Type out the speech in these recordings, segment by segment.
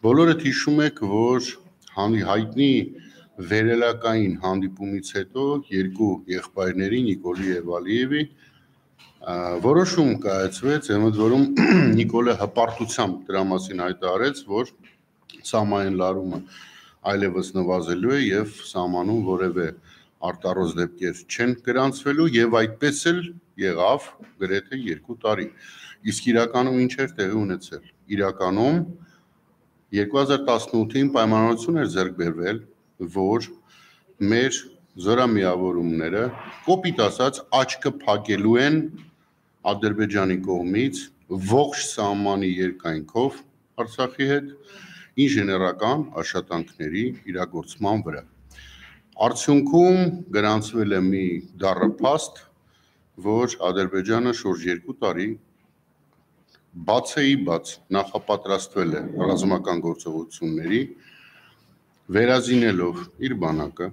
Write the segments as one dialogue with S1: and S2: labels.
S1: Բոլորդ հիշում եք, որ հայտնի վերելակային հանդիպումից հետո երկու եղբայրների Նիկոլի եւ Ալիևի որոշում կայացվեց, ընդ որում Նիկոլը հպարտությամբ դրա մասին հայտարարեց, որ սահմանային լարումը այլևս նվազելու է եւ սահմանում որևէ արտառոց դեպքեր չեն գրանցվելու եւ այդպես էլ եղավ գրեթե 2 տարի։ Իսկ իրականում ինչ էր տեղի ունեցել։ Իրականում 2018-ին պայմանավորություն էր ձեռք բերվել, որ մեր զորամիավորումները կոպիտ ասած աչքը փակելու են Ադրբեջանի կողմից ողջ սահմանի երկայնքով Արցախի հետ ինժեներական աշխատանքների իրագործման վրա։ Արդյունքում գրանցվել է մի դառնափաստ, որ Ադրբեջանը շուրջ 2 տարի բաց նախապատրաստվել է ռազմական գործողությունների, վերազինելով իր բանակը,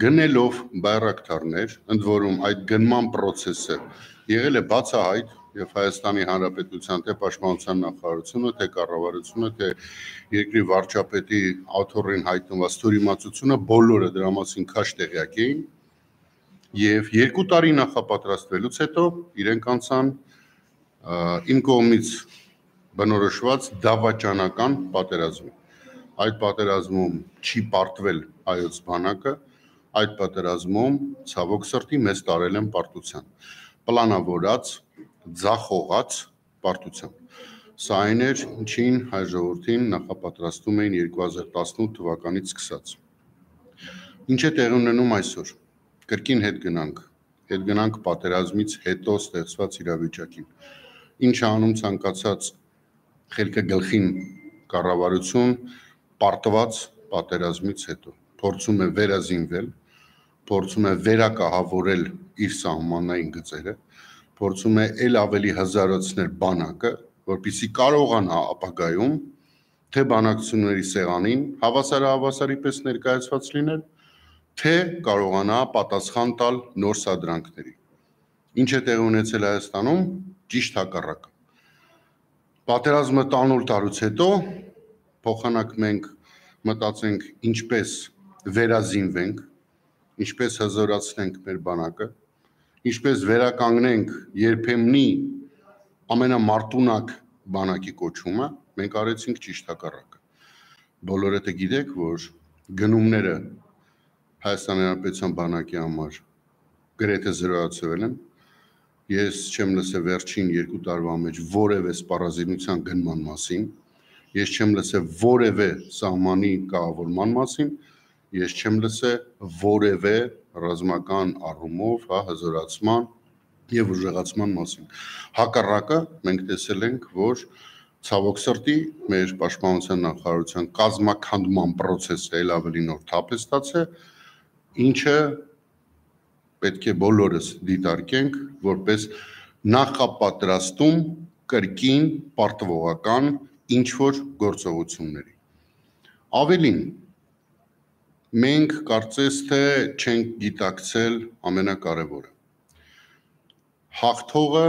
S1: գնելով բայրակտարներ, ընդ որում այդ գնման process-ը եղել է բացահայտ եւ Հայաստանի Հանրապետության թե Պաշտպանության նախարարությունը, թե կառավարությունը, թե երկրի վարչապետի աթոռին հայտնված թյուրիմացությունը բոլորը դրա մասին քաշ տեղյակ էին եւ 2 տարի նախապատրաստվելուց հետո իրենք անցան իմ կողմից բնորոշված դավաճանական պատերազմի։ Այդ պատերազմում չի պարտվել հայոց բանակը, այդ պատերազմում ցավոք սրտի մեզ տարել են պարտության, պլանավորած, ձախողած պարտության։ Սա այն էր, ինչին հայ ժողովրդին նախապատրաստում էին 2018 թվականից սկսած։ Ինչ է տեղի ունենում այսօր։ Կրկին հետ գնանք պատերազմից հետո ստեղծված իրավիճակին։ Ինչ անում ցանկացած խելքը գլխին կառավարություն պարտված պատերազմից հետո փորձում է վերազինվել, փորձում է վերակահավորել իր սահմանային գծերը, փորձում է ել ավելի հզարացնել բանակը, որպեսզի կարողանա ապագայում թե բանակցությունների սեղանին հավասարահավասարի պես ներկայացված լինել, թե կարողանա պատասխան տալ նոր սադրանքների։ Ինչ է տեղի ունեցել Հայաստանում, ճիշտ հակառակը։ Պատերազմը տանուլ տարուց հետո փոխանակ մենք մտածենք ինչպես վերազինվենք, ինչպես հզորացնենք մեր բանակը, ինչպես վերականգնենք երբեմնի ամենամարտունակ բանակի կոչումը, մենք արեցինք ճիշտ հակառակը։ Բոլորդ գիտեք, որ գնումները Հայաստանի Հանրապետության բանակի համար գրեթե զրոյացվել են։ Ես չեմ լսել վերջին 2 տարվա մեջ որևէ սպառազինության գնման մասին, ես չեմ լսել որևէ սահմանի կառավարման մասին, ես չեմ լսել որևէ ռազմական առումով հզորացման եւ ուժեղացման մասին։ Հակառակը մենք տեսել ենք, որ ցավոք սրտի մեր պաշտպանության նախարարության կազմաքանդման process-ը ել ավելի նոր թափ է ստացել, ինչը պետք է բոլորս դիտարկենք որպես նախապատրաստում կրկին պարտվողական ինչ-որ գործողությունների։ Ավելին, մենք կարծես թե չենք գիտակցել ամենակարևորը։ Հաղթողը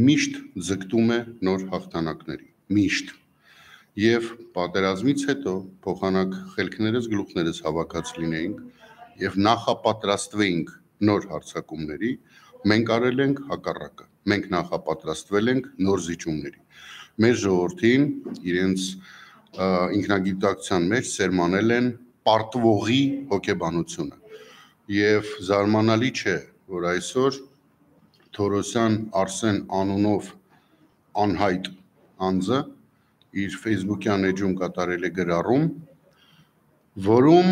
S1: միշտ ձգտում է նոր հաղթանակների, միշտ։ Եվ պատերազմից հետո փոխանակ խելքներս գլուխներս հավաքած լինեինք եւ նախապատրաստվեինք նոր հարձակումների, մենք արել ենք հակառակը։ Մենք նախապատրաստվել ենք նոր զիջումների։ Մեր ժողովրդին իրենց ինքնագիտակցության մեջ սերմանել են պարտվողի հոգեբանությունը։ Եվ զարմանալի չէ, որ այսօր Թորոսյան Արսեն անունով անհայտ անձը իր Facebook-յան էջում կատարել է գրառում, որում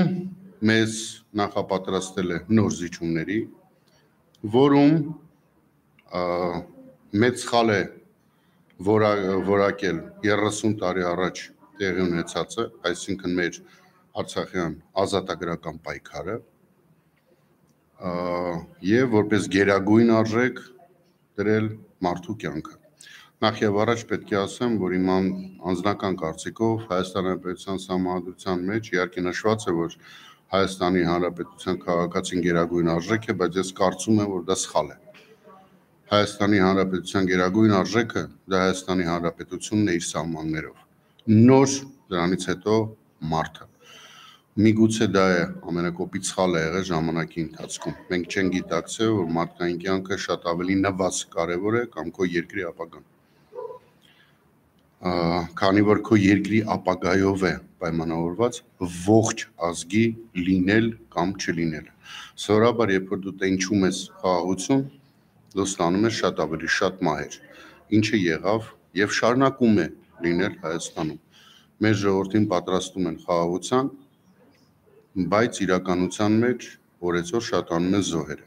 S1: մեզ նախապատրաստել է նոր զիջումների, որում մեծ սխալ է որակել 30 տարի առաջ տեղի ունեցածը, այսինքն մեր Արցախյան ազատագրական պայքարը, եւ որպես գերագույն արժեք դրել մարդու կյանքը։ Նախ եւ առաջ պետք է ասեմ, որ իմ անձնական կարծիքով Հայաստանի Հանրապետության Սահմանադրության մեջ իհարկե նշված է, որ Հայաստանի Հանրապետության քաղաքացին գերագույն արժեք է, բայց ես կարծում եմ, որ դա սխալ է։ Հայաստանի Հանրապետության գերագույն արժեքը դա Հայաստանի Հանրապետությունն է իր սահմաններով։ Նոր դրանից հետո մարդը։ Միգուցե դա է ամենակոպիտ սխալը եղել ժամանակի ընթացքում։ Մենք չենք գիտակցել, որ մարդկային կյանքը շատ ավելի նվազ կարևոր է կամ քո երկրի ապագան։ Քանի որ քո երկրի ապագայով է պայմանավորված ողջ ազգի լինել կամ չլինել։ Սովորաբար, երբ որ դու տենչում ես խաղաղություն, դու ստանում ես շատ ավելի շատ մահեր, ինչը եղավ եւ շարունակում է լինել Հայաստանում։ Մեր ժողովրդին պատրաստում են խաղաղության, բայց իրականության մեջ օրեցօր շատանում են զոհերը։